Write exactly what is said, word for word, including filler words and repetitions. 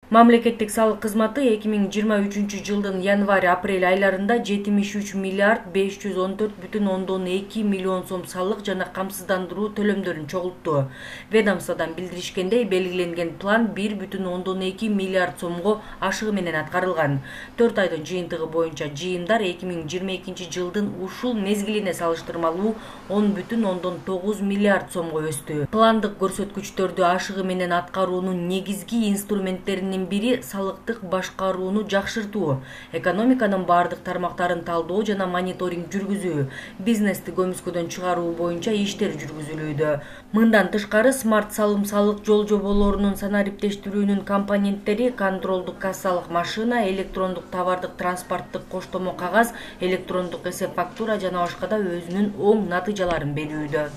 Мамлекеттик салык кызматы эки миң жыйырма үчүнчү жылдын январь-апрель айларында жетимиш үч миллиард беш жүз он төрт бүтүн ондон эки миллион сом салык жана камсыздандыруу төлөмдөрүн чогултту. Ведомстводон билдиришкендей, белгиленген план бир бүтүн ондон эки миллиард сомго ашыгы менен аткарылган. төрт айдын жыйынтыгы боюнча жыйымдар эки миң жыйырма экинчи жылдын ушул мезгилине салыштырмалуу он бүтүн ондон тогуз миллиард сомго өстү. Пландык көрсөткүчтөрдү ашыгы менен аткаруунун негизги инструменттеринин бири салыктык башкарууну жакшыртуу, экономиканын бардык тармактарын талдоо жана мониторинг жүргүзүү, бизнести көмүскөдөн чыгаруу боюнча иштер жүргүзүлүүдө. Мындан тышкары, смарт салым салык жол жоболорунун санариптештирүүнүн компоненттери контролдук кассалык машина, электрондук товардык транспорттук коштомо кагаз, электрондук эсеп фактура жана башка да өзүнүн оң натыйжаларын берүүдө.